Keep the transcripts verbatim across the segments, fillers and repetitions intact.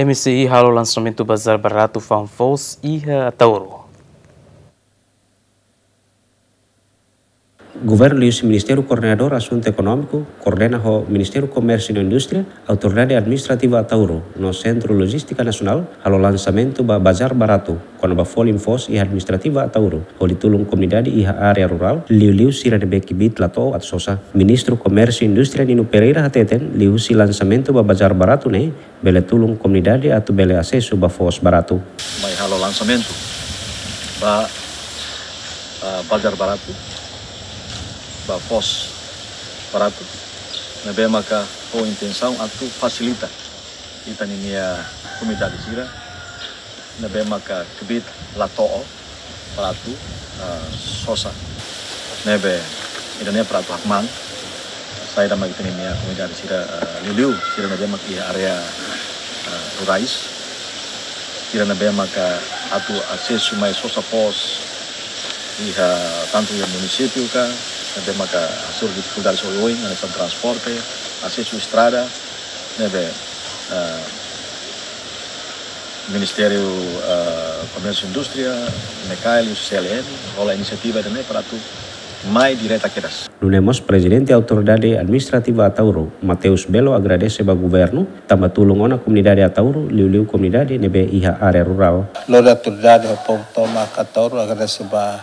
M C I halo lansamentu bazár baratu fa'an foos iha Ataúro. Governu liuhusi Ministériu Koordenadór Asuntu Ekonómiku, koordena ho Ministériu Komérsiu no Indústria, Autoridade Administrativa Ataúro, no Sentru Lojístika Nasionál, halo lansamentu ba bazár baratu, kona-ba folin foos iha Administrativa Ataúro, hodi tulun komunidade iha área rurál, liuliu sira ne'ebé kbiit la to'o atu sosa. Ministru Komérsiu Indústria Nino Pereira hateten, liuhusi lansamentu ba bazár baratu ne'e, bele tulun komunidade atu bele asesu ba foos baratu. Mai halo lansamentu ba, ah, bazár baratu, ba foos baratu, ne'ebé maka ho intensaun atu fasilita ita-nia komunidade sira ne'ebé maka kbiit la to'o para atu, ah, sosa. Ne'ebé ida-ne'e para atu hakmaan saida mak ita-nia komunidade sira, ah, liuliu sira ne'ebé mak iha área, ah, rurais. Sira ne'ebé maka atu asesu mai sosa foos iha tantu iha munisípiu ka, ne'ebé maka hasoru difikuldade oioin, hanesan transporte, asesu estrada, ne'ebé, ah, Ministériu, ah, Komérsiu Indústria, MECAIL, C L N, hola inisiativa ida-ne'e para atu mai direta kedas. Nune'e mós Prezidente Autoridade Administrativa Ataúro, Mateus Belo agradese ba governu, tanba tulun ona komunidade Ataúro, liuliu komunidade ne'ebé iha área rurál. Lori autoridade ho povu tomak Ataúro agradese ba,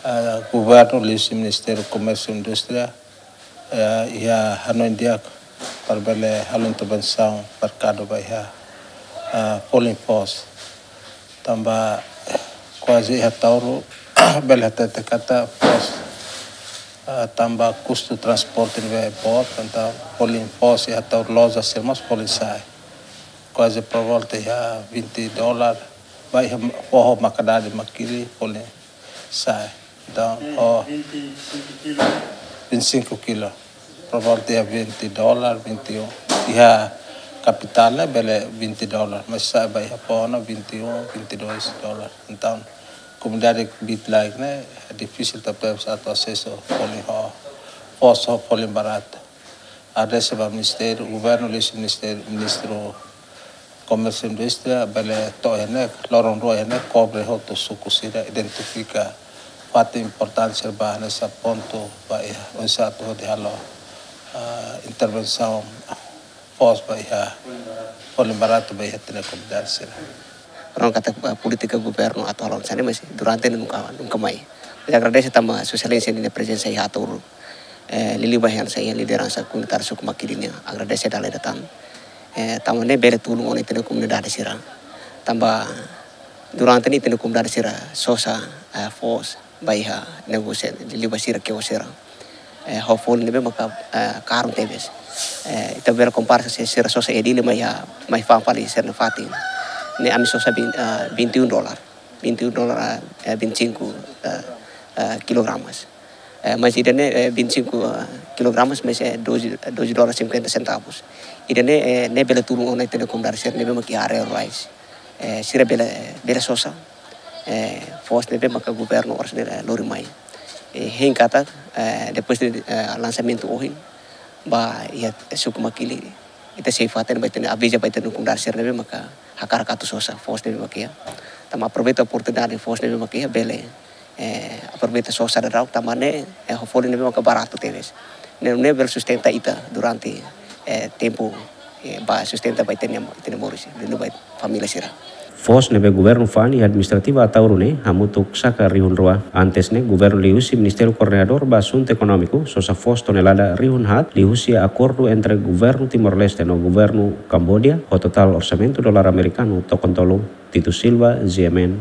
ah, governu liuhusi Ministériu Komérsiu Indústria, eh, iha hanoin di'ak para bele halo intervensaun merkadu ba iha, ah, folin foos. Tanba kuaze iha Ataúro bele hatete katak foos, ah, tanba kustu transporte ne'ebé boot, entaun folin foos iha Ataúro loja sira mós folin sa'e. Kuaze por volta iha vinte dólar, ba iha foho Makadade, Makili, folin sa'e. Entaun, oh, vinte e cinco kilo. Por volta iha vinte dólar, vinte e um. Iha kapitál ne'e bele vinte dólar, mas sa'e ba iha foho ne'e vinte e um, vinte e dois dólar. Entaun, komunidade kbiit-laek ne'e difisil tebes atu asesu folin ho, foos ho folin baratu. Agradese ba ministériu, governu liuhusi ministériu, Ministru Komérsiu Indústria, bele to'o iha ne'e, loron rua iha ne'e, kobre hotu suku sira, identifika fatin importante sira ba hanesan pontu ba iha, oinsá atu hodi halo, ah, intervensaun foos ba iha, folin baratu ba iha ita-nia komunidade sira. Orang kata, ah, polítika governu atu halo hanesan ne'e, mas durante ne'e nunka, nunka mai. Mas agradese tanba Sua Exelénsia nia prezensa iha Ataúro. Eh, liuliu ba hanesan iha lideransa komunitáriu suku Makili nian, agradese dala ida tan. Eh, tanba ne'e bele tulun ona ita-nia komunidade sira. Tanba durante ne'e ita-nia komunidade sira sosa, eh, foos ba iha negósiu, liuliu ba sira kios sira. Eh, ho folin ne'ebé maka, eh, karun tebes. Eh, ita bele kompara se sira sosa iha Dili mai iha, mai fa'an fali sira-nia fatin. Ne'e ami sosa bin-, eh, vinte e um dólar. Vinte e um dólar, eh, vinte e cinco, eh, eh, kilogramas. Eh, mas ida-ne'e, eh, vinte e cinco, eh, kilogramas, mas, eh, doze, doze dólar cinquenta centavos. Ida-ne'e, eh, ne'e bele tulun ona ita-nia komunidade sira ne'ebé mak iha área rurais. Eh, sira bele, bele sosa, eh, foos ne'ebé maka governu oras ne'e, eh, lori mai. Eh, hein katak, eh, depois de, eh, lansamentu ohin, ba iha suku Makili, ita sei fatin ba ita-nia, aviza ba ita-nia komunidade sira ne'ebé maka hakarak atu sosa foos ne'ebé mak iha. Tanba aproveita oportunidade foos ne'ebé mak iha, bele, eh, aproveita sosa daudaun, tanba ne'e, eh, ho folin ne'ebé maka baratu tebes. Ne'e, ne'e bele sustenta ita durante, eh, tempu, eh, ba sustenta ba ita-nia, ita-nia moris, liuliu ba família sira. Foos ne'ebé governu fa'an iha Administrativa Ataúro ne'e hamutuk saka rihun rua. Antes ne'e, governu liuhusi Ministériu Koordenadór ba Asuntu Ekonómiku sosa foos tonelada rihun haat liuhusi akordu entre governu Timor-Leste no governu Kamboja, ho totál orsamentu dolar amerikanu tokon tolu. Tito Silva, G M N,